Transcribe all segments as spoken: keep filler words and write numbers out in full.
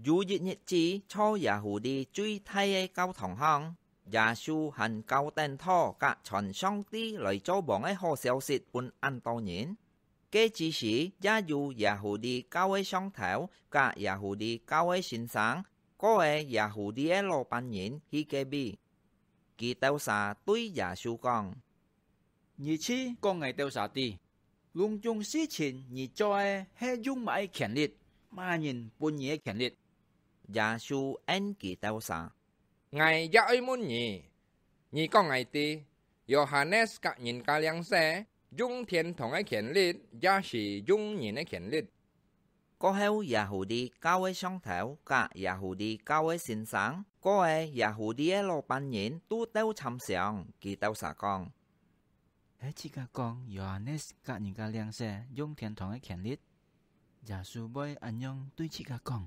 有一日子，在耶戶利最大个教堂項，耶穌還教等討佮傳上帝來做王个好消息分恁多人。該之時，也有耶戶利教个上頭佮耶戶利教个先生，過个耶戶利个老闆人去該位。佢兜儕對耶穌講：「你去講𠊎兜儕知，攏總事情你做个係用麼个權力？麼人分你个權力？」耶穌應佢兜儕：「𠊎也愛問你，你講𠊎知，Yohanes㧯人家領洗，用天堂个權力，也係用人个權力？」 過後，耶戶利教个上頭佮耶戶利教个先生，過个耶戶利个老闆人都鬥參詳，佢兜儕講：「係自家講Yohanes㧯人家領洗用天堂个權力，耶穌會恁樣對自家講，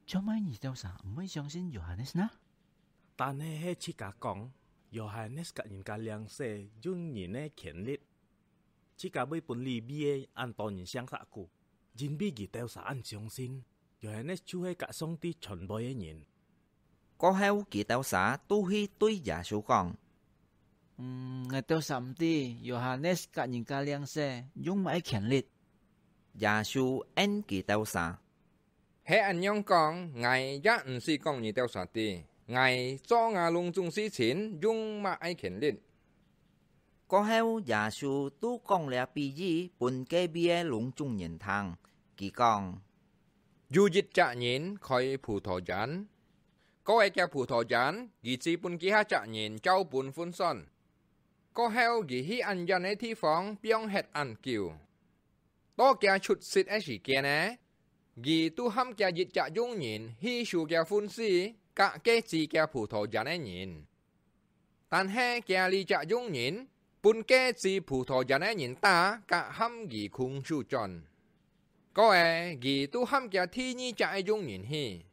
做麼你兜儕毋會相信Yohanes呢？但係係自家講Yohanes㧯人家領洗用人个權力，自家會分利未个恁多人相殺過，因為佢兜儕恁相信，Yohanes就係佮上帝傳話个人。」 過後，佢兜儕都去對耶穌講：「嗯，𠊎兜儕毋知，Yohanes㧯人家領洗用麼个權力？」耶穌應佢兜儕：「係恁樣講，𠊎也毋使講你兜儕知，𠊎做𠊎攏總事情用麼个權力。」 過後，耶穌都講這比喻分該位个攏總人聽。佢講：「有一隻人開葡萄園，過个厥葡萄園，佢指分其他隻人照本分算。過後，佢去恁遠个地方放忒恁久。到厥出息个時間呢，佢都喊厥一隻佣人去收厥份數，佮該治厥葡萄園个人。 但係厥這隻佣人，分該治葡萄園个人打，佮喊佢空手轉。過个，佢都喊厥第二隻个佣人去。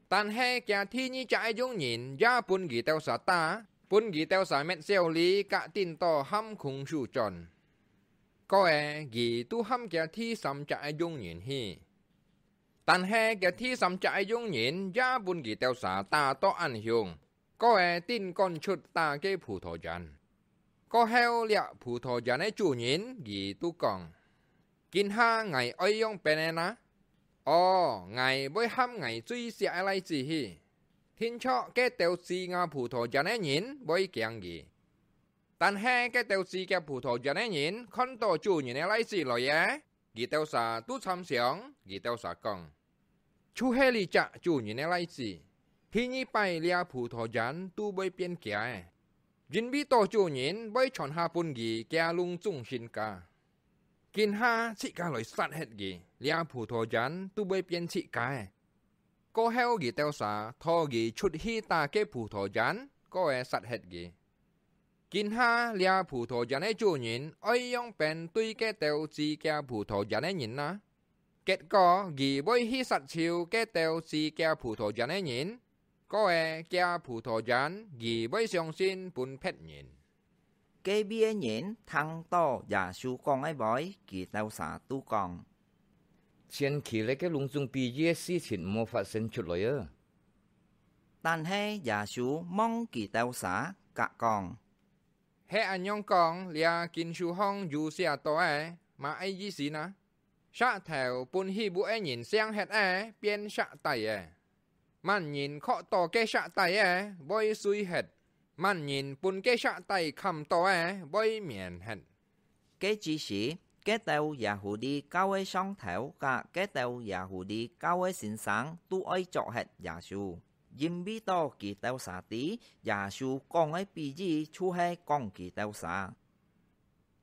但係厥第二隻个佣人也分佢兜儕打，分佢兜儕搣痟哩，佮顛倒喊空手轉。過个，佢都喊厥第三隻个佣人去。但係厥第三隻个佣人也分佢兜儕打到恁凶， 過个，頂趕出打該葡萄園。」過後，這葡萄園个主人佢都講：「今下𠊎愛仰般呢？哦，𠊎會喊𠊎最惜个倈子去，定著該兜治吾葡萄園个人會驚佢。」 但係該兜治厥葡萄園个人看到主人个倈子來了，佢兜儕都參詳，佢兜儕講：「就係這隻主人个倈子，第二擺這葡萄園都會變厥个，因為到主人會傳下分佢厥攏總身家。今下自家來殺忒佢，這葡萄園都會變自家个。」 過後佢兜儕討佢出去打該葡萄園，過个殺忒佢。今下這葡萄園个主人愛仰般對該兜治厥葡萄園个人呢？結果佢會去殺忒該兜治厥葡萄園个人，過个厥葡萄園佢會賞賜分別人。 該位个人聽到耶穌講个話，佢兜儕都講：「千祈這个攏總比喻个事情毋好發生出來啊！」但係耶穌望佢兜儕，佮講：「係恁樣講，這經書項有寫到个，麼个意思呢？ 石頭分起屋个人餳忒了，變石底了。麼人靠到該石底个，會碎忒；麼人分該石底崁到个，會綿忒。」該之時，該兜Yahudi教个上頭佮該兜Yahudi教个先生都愛捉忒耶穌，因為到佢兜儕知耶穌講个比喻就係講佢兜儕。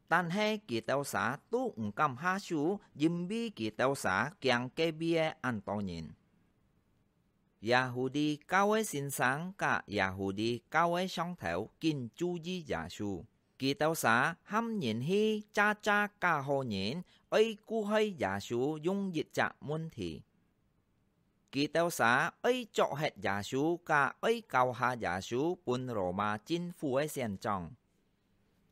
但係佢兜儕都毋敢下手，因為佢兜儕驚該位个恁多人。Yahudi教个先生佮Yahudi教个上頭緊注意耶穌，佢兜儕喊人去遮遮教好人，愛顧害耶穌用一隻問題。 佢兜儕愛捉忒耶穌，佮愛交下耶穌分羅馬政府个省長。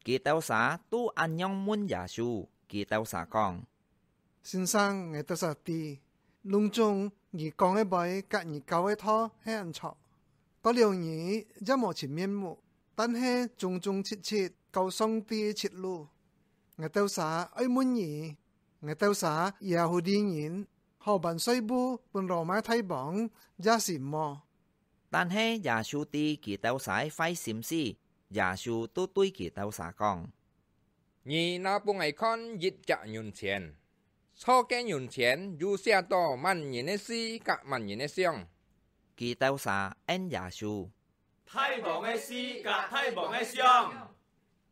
佢兜儕都恁樣問耶穌，佢兜儕講：「先生，𠊎兜儕知，攏總你講个話佮你教个道係恁著。過了你也無尋面目，但係忠忠直直教上帝个直路。𠊎兜儕愛問你，𠊎兜儕耶戶地人好還稅務分羅馬大王也係無？」但係耶穌知佢兜儕个壞心思，耶穌就對佢兜儕講：「你拿分𠊎看一隻銀錢。 錯个銀錢有寫著麼人个字佮麼人个相？」佢兜儕應耶穌：「大王个字佮大王个相。」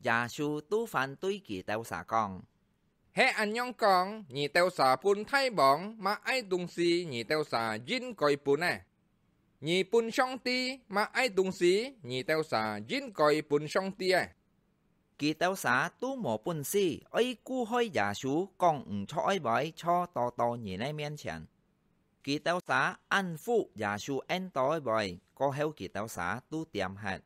耶穌就反對佢兜儕講：「係恁樣講，你兜儕分大王麼个東西，你兜儕應該分个；你分上帝麼个東西，你兜儕應該分上帝个。」 佢兜儕都無本事，愛顧害耶穌講毋著个話，坐到到人个面前。佢兜儕恁服耶穌應到个話，過後佢兜儕都恬忒。